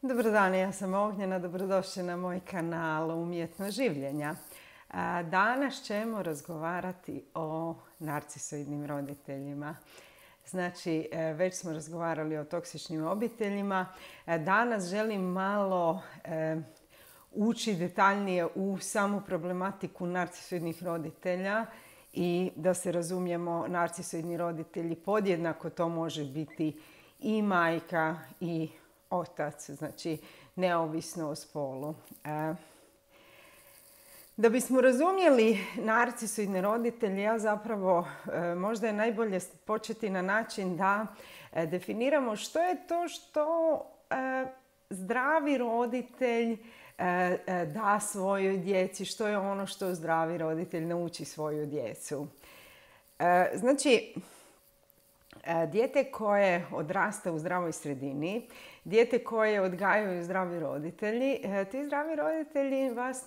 Dobar dan, ja sam Ognjena, dobrodošli na moj kanal Umjetno življenja. Danas ćemo razgovarati o narcisoidnim roditeljima. Znači, već smo razgovarali o toksičnim obiteljima. Danas želim malo ući detaljnije u samu problematiku narcisoidnih roditelja i da se razumijemo, narcisoidni roditelji podjednako to može biti i majka i otac, znači neovisno o spolu. Da bismo razumjeli narcisoidne roditelje, ja zapravo možda je najbolje početi na način da definiramo što je to što zdravi roditelj da svojoj djeci, što je ono što zdravi roditelj nauči svoju djecu. Znači, dijete koje odrasta u zdravoj sredini, dijete koje odgajaju zdravi roditelji, ti zdravi roditelji vas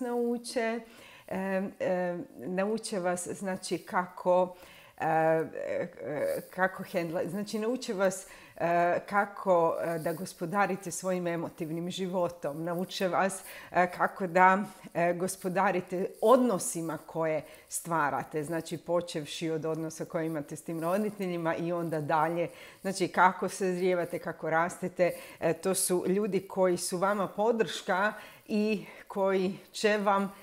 nauče vas, znači kako hendla, znači nauče vas kako da gospodarite svojim emotivnim životom, nauče vas kako da gospodarite odnosima koje stvarate, znači počevši od odnosa koje imate s tim roditeljima i onda dalje, znači kako sazrijevate, kako rastete, to su ljudi koji su vama podrška i koji će vam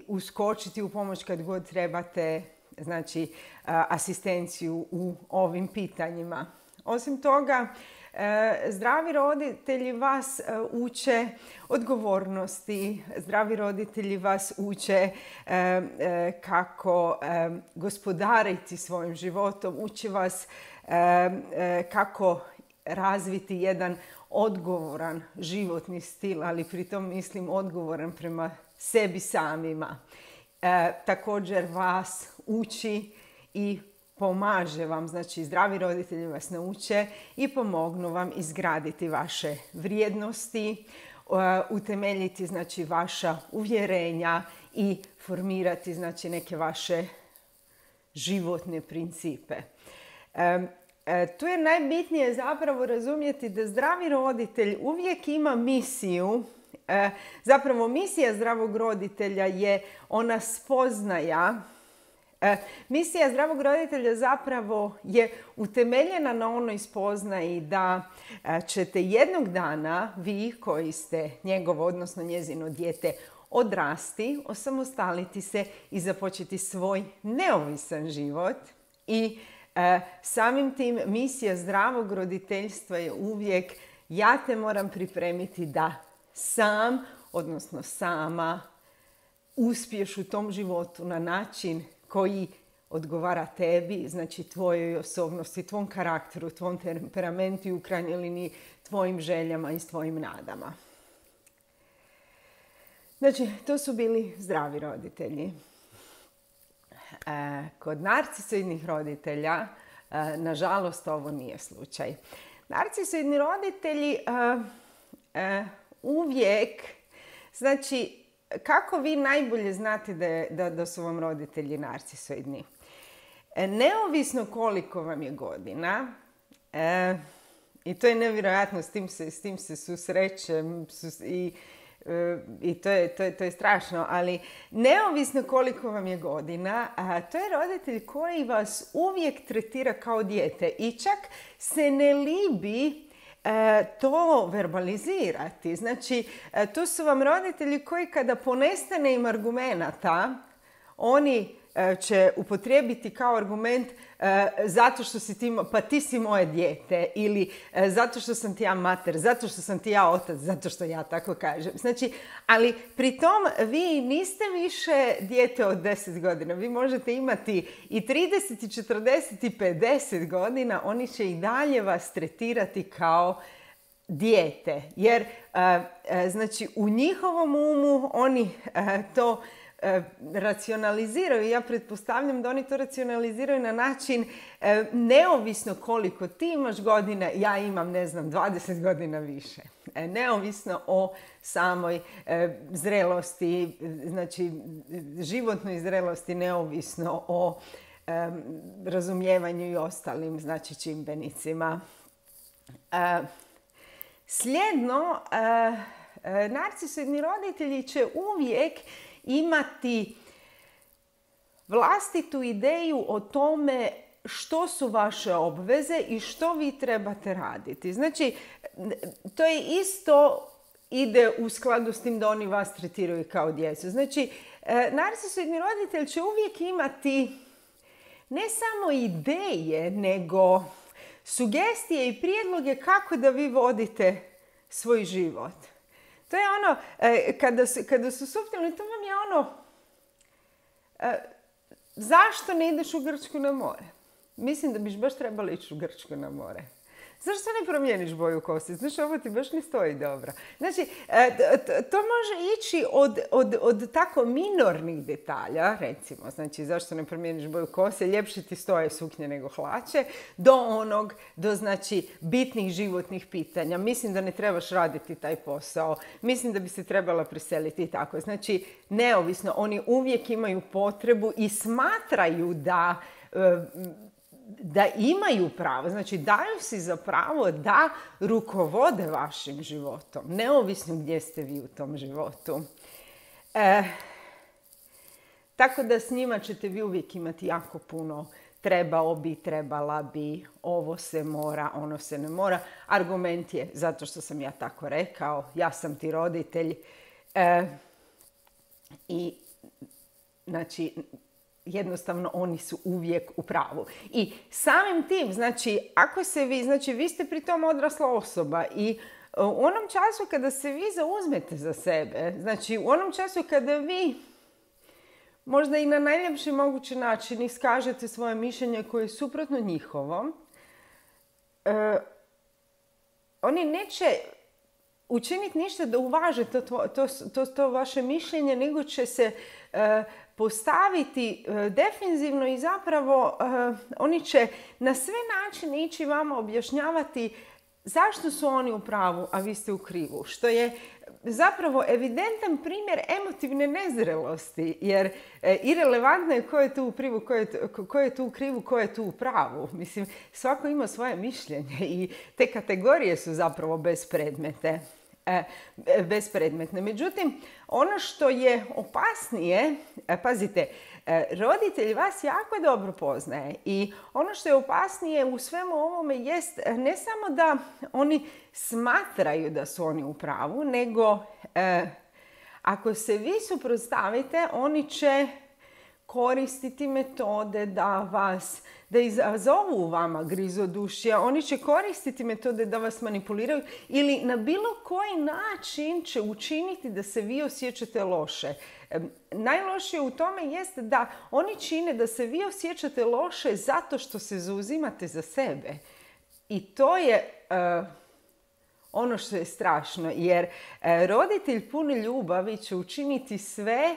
uskočiti u pomoć kad god trebate, znači asistenciju u ovim pitanjima. Osim toga, zdravi roditelji vas uče odgovornosti, zdravi roditelji vas uče kako gospodariti svojim životom, uče vas kako razviti jedan odgovoran životni stil, ali pritom mislim odgovoran prema sebi samima. Također vas uči i pomaže vam, znači zdravi roditelji vas nauče i pomognu vam izgraditi vaše vrijednosti, utemeljiti znači vaša uvjerenja i formirati znači neke vaše životne principe. Tu je najbitnije zapravo razumjeti da zdravi roditelj uvijek ima misiju. Zapravo misija zdravog roditelja je ona spoznaja. Misija zdravog roditelja zapravo je utemeljena na onoj spoznaji da ćete jednog dana vi koji ste njegovo, odnosno njezino dijete, odrasti, osamostaliti se i započeti svoj neovisan život. I samim tim misija zdravog roditeljstva je uvijek ja te moram pripremiti da sam, odnosno sama, uspiješ u tom životu na način koji odgovara tebi, znači tvojoj osobnosti, tvom karakteru, tvom temperamentu i u krajnjoj liniji tvojim željama i tvojim nadama. Znači, to su bili zdravi roditelji. Kod narcisoidnih roditelja, nažalost, ovo nije slučaj. Narcisoidni roditelji uvijek, znači, kako vi najbolje znate da su vam roditelji narcisoidni? Neovisno koliko vam je godina, i to je nevjerojatno, s tim se susrećem i to je strašno, ali neovisno koliko vam je godina, to je roditelj koji vas uvijek tretira kao dijete i čak se ne libi to verbalizirati. Znači, tu su vam roditelji koji kada ponestane im argumenata, oni će upotrijebiti kao argument zato što si ti, pa ti si moje dijete, ili zato što sam ti ja mater, zato što sam ti ja otac, zato što ja tako kažem. Znači, ali pri tom vi niste više dijete od 10 godina. Vi možete imati i 30, i 40, i 50 godina. Oni će i dalje vas tretirati kao dijete. Jer, znači, u njihovom umu oni to racionaliziraju. Ja pretpostavljam da oni to racionaliziraju na način neovisno koliko ti imaš godina, ja imam, 20 godina više. Neovisno o samoj zrelosti, znači životnoj zrelosti, neovisno o razumijevanju i ostalim, znači, čimbenicima. Slijedno, narcisoidni roditelji će uvijek imati vlastitu ideju o tome što su vaše obveze i što vi trebate raditi. Znači, to je isto ide u skladu s tim da oni vas tretiraju kao djecu. Znači, narcisoidni roditelj će uvijek imati ne samo ideje, nego sugestije i prijedloge kako da vi vodite svoj život. To je ono, kada su suptilni, to vam je ono, zašto ne ideš u Grčku na more? Mislim da biš baš trebala ići u Grčku na more. Zašto ne promijeniš boju kose? Znači, ovo ti baš ne stoji dobro. Znači, to može ići od tako minornih detalja, recimo, znači, zašto ne promijeniš boju kose, ljepše ti stoje suknje nego hlače, do znači, bitnih životnih pitanja. Mislim da ne trebaš raditi taj posao. Mislim da bi se trebala preseliti i tako. Znači, neovisno, oni uvijek imaju potrebu i smatraju da imaju pravo, znači daju si za pravo da rukovode vašim životom, neovisno gdje ste vi u tom životu. Tako da s njima ćete vi uvijek imati jako puno trebao bi, trebala bi, ovo se mora, ono se ne mora. Argument je zato što sam ja tako rekao, ja sam ti roditelj i znači jednostavno oni su uvijek u pravu. I samim tim, znači, ako se vi, znači vi ste pri tom odrasla osoba i u onom času kada se vi zauzmete za sebe, znači u onom času kada vi možda i na najljepši mogući način iskažete svoje mišljenje koje je suprotno njihovom, oni neće učiniti ništa da uvaže to vaše mišljenje, nego će se postaviti defenzivno i zapravo oni će na sve načine ići vama objašnjavati zašto su oni u pravu, a vi ste u krivu. Što je zapravo evidentan primjer emotivne nezrelosti, jer irelevantno je ko je tu u krivu, ko je tu u krivu, ko je tu u pravu. Mislim, svako ima svoje mišljenje i te kategorije su zapravo bespredmetne. Međutim, ono što je opasnije, pazite, roditelj vas jako dobro poznaje i ono što je opasnije u svemu ovome jest ne samo da oni smatraju da su oni u pravu, nego ako se vi suprotstavite, oni će koristiti metode da izazovu u vama grizodušje, oni će koristiti metode da vas manipuliraju ili na bilo koji način će učiniti da se vi osjećate loše. Najlošije u tome jeste da oni čine da se vi osjećate loše zato što se zauzimate za sebe. I to je ono što je strašno, jer roditelj pun ljubavi će učiniti sve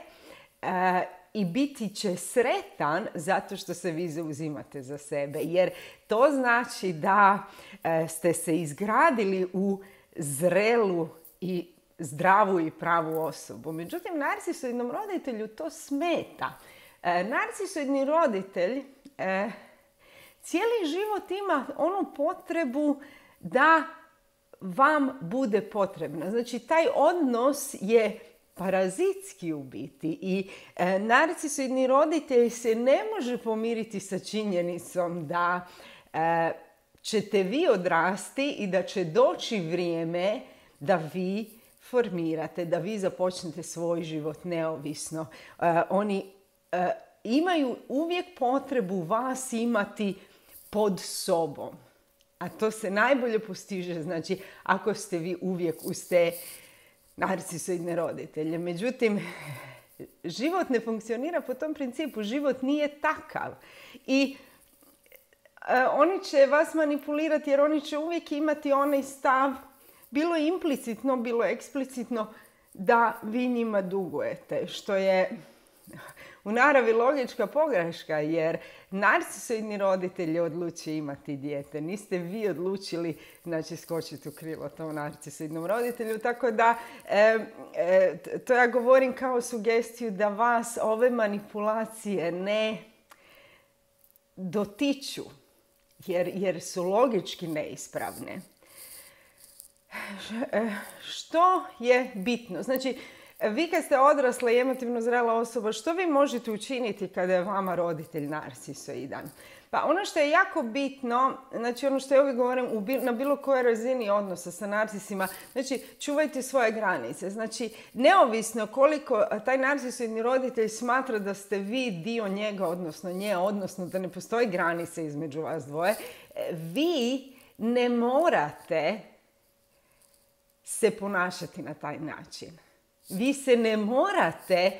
i biti će sretan zato što se vi zauzimate za sebe. Jer to znači da ste se izgradili u zrelu i zdravu i pravu osobu. Međutim, narcisoidnom roditelju to smeta. Narcisoidni roditelj cijeli život ima onu potrebu da vam bude potrebna. Znači, taj odnos je parazitski u biti i narcisoidni roditelj se ne može pomiriti sa činjenicom da ćete vi odrasti i da će doći vrijeme da vi formirate, da vi započnete svoj život neovisno. Oni imaju uvijek potrebu vas imati pod sobom. A to se najbolje postiže, znači, ako ste vi uvijek uz te narcisoidne roditelje. Međutim, život ne funkcionira po tom principu. Život nije takav. I oni će vas manipulirati jer oni će uvijek imati onaj stav, bilo implicitno, bilo eksplicitno, da vi njima dugujete. Što je u naravi logička pogreška, jer narcisoidni roditelj je odlučio imati dijete. Niste vi odlučili, znači, skočiti u krilo tom narcisoidnom roditelju. Tako da, to ja govorim kao sugestiju da vas ove manipulacije ne dotiču, jer su logički neispravne. Što je bitno? Znači, vi kad ste odrasla i emotivno zrela osoba, što vi možete učiniti kada je vama roditelj narcisoidan? Pa ono što je jako bitno, znači ono što ja uvijek govorim na bilo kojoj razini odnosa sa narcisima, znači čuvajte svoje granice. Znači, neovisno koliko taj narcisoidni roditelj smatra da ste vi dio njega, odnosno nje, odnosno da ne postoji granice između vas dvoje, vi ne morate se ponašati na taj način. Vi se ne morate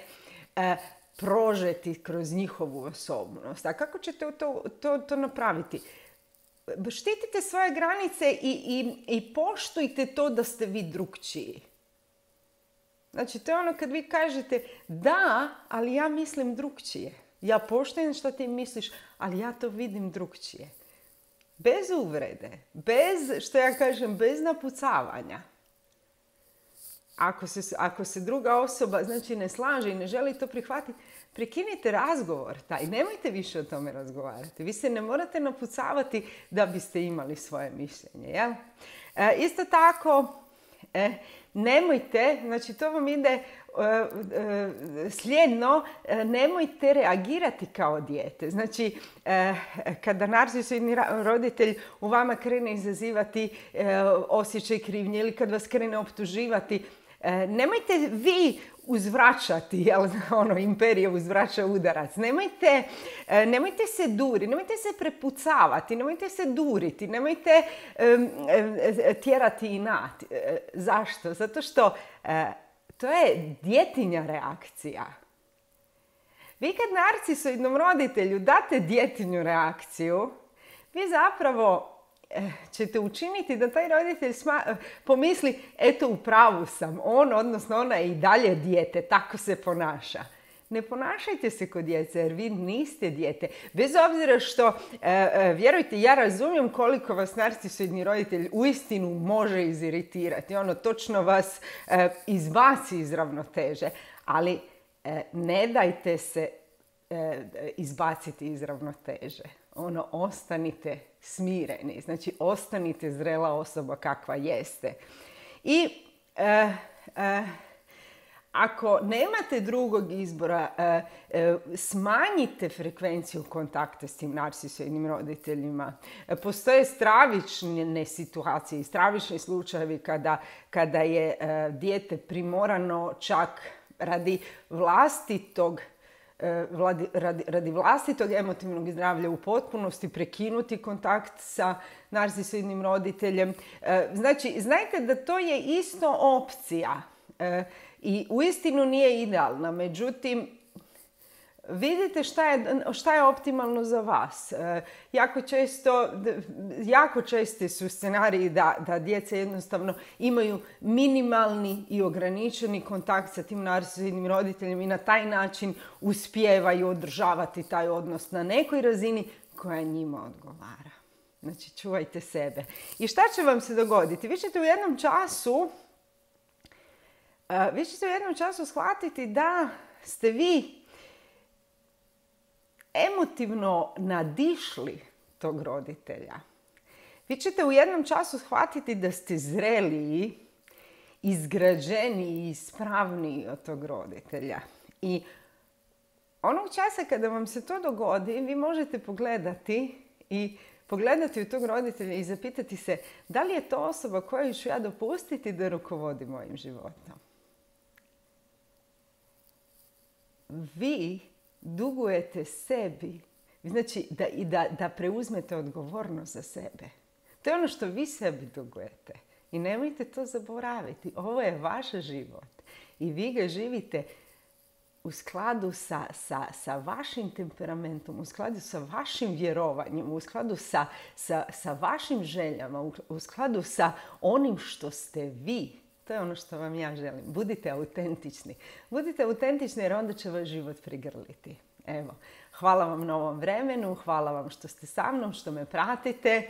prožeti kroz njihovu osobnost. A kako ćete to napraviti? Štitite svoje granice i poštujte to da ste vi drukčiji. Znači, to je ono kad vi kažete da, ali ja mislim drukčije. Ja poštujem što ti misliš, ali ja to vidim drukčije. Bez uvrede, bez napucavanja. Ako se druga osoba znači ne slaže i ne želi to prihvatiti, prekinite razgovor taj. Nemojte više o tome razgovarati. Vi se ne morate napucavati da biste imali svoje mišljenje. Jel? Isto tako, nemojte, znači to vam ide slijedno, nemojte reagirati kao dijete. Znači, kada narcisoidni roditelj u vama krene izazivati osjećaj krivnje ili kad vas krene optuživati, nemojte vi uzvraćati, jel, imperija uzvraća udarac. Nemojte se duriti, nemojte se prepucavati, nemojte se duriti, nemojte tjerati inat. Zašto? Zato što to je djetinja reakcija. Vi kad narcisoidnom roditelju date djetinju reakciju, vi zapravo ćete učiniti da taj roditelj pomisli, eto, u pravu sam, odnosno ona je i dalje dijete, tako se ponaša. Ne ponašajte se kod djece, jer vi niste dijete. Bez obzira što, vjerujte, ja razumijem koliko vas narcisoidni roditelj uistinu može iziritirati. Točno vas izbaci iz ravnoteže. Ali ne dajte se izbaciti iz ravnoteže. Ostanite smireni. Znači, ostanite zrela osoba kakva jeste. I ako nemate drugog izbora, smanjite frekvenciju kontakta s tim narcisoidnim roditeljima. Postoje stravične situacije i stravični slučajevi kada je dijete primorano čak radi vlastitog emotivnog zdravlja u potpunosti prekinuti kontakt sa narcisoidnim roditeljem. Znači, znajte da to je isto opcija i uistinu nije idealna. Međutim, vidite šta je optimalno za vas. Jako česti su scenariji da djeca jednostavno imaju minimalni i ograničeni kontakt sa tim narcisoidnim roditeljem i na taj način uspijevaju održavati taj odnos na nekoj razini koja njima odgovara. Znači, čuvajte sebe. I šta će vam se dogoditi? Vi ćete u jednom času shvatiti da ste vi emotivno nadišli tog roditelja. Vi ćete u jednom času shvatiti da ste zreliji, izgrađeniji i ispravniji od tog roditelja. I onog časa kada vam se to dogodi, vi možete pogledati u tog roditelja i zapitati se da li je to osoba koju ću ja dopustiti da rukovodi mojim životom. Vi dugujete sebi, znači da preuzmete odgovornost za sebe. To je ono što vi sebi dugujete. I nemojte to zaboraviti. Ovo je vaš život. I vi ga živite u skladu sa vašim temperamentom, u skladu sa vašim vjerovanjem, u skladu sa vašim željama, u skladu sa onim što ste vi. To je ono što vam ja želim. Budite autentični. Budite autentični jer onda će vaš život prigrliti. Evo, hvala vam na ovom vremenu, hvala vam što ste sa mnom, što me pratite.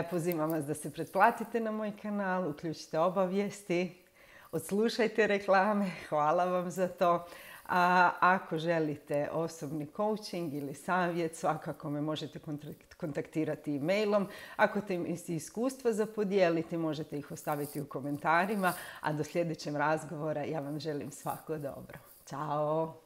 Pozivam vas da se pretplatite na moj kanal, uključite obavijesti, odslušajte reklame, hvala vam za to. A ako želite osobni coaching ili savjet, svakako me možete kontaktirati e-mailom. Ako te imate iskustva za podijeliti, možete ih ostaviti u komentarima, a do sljedećeg razgovora ja vam želim svako dobro. Ćao!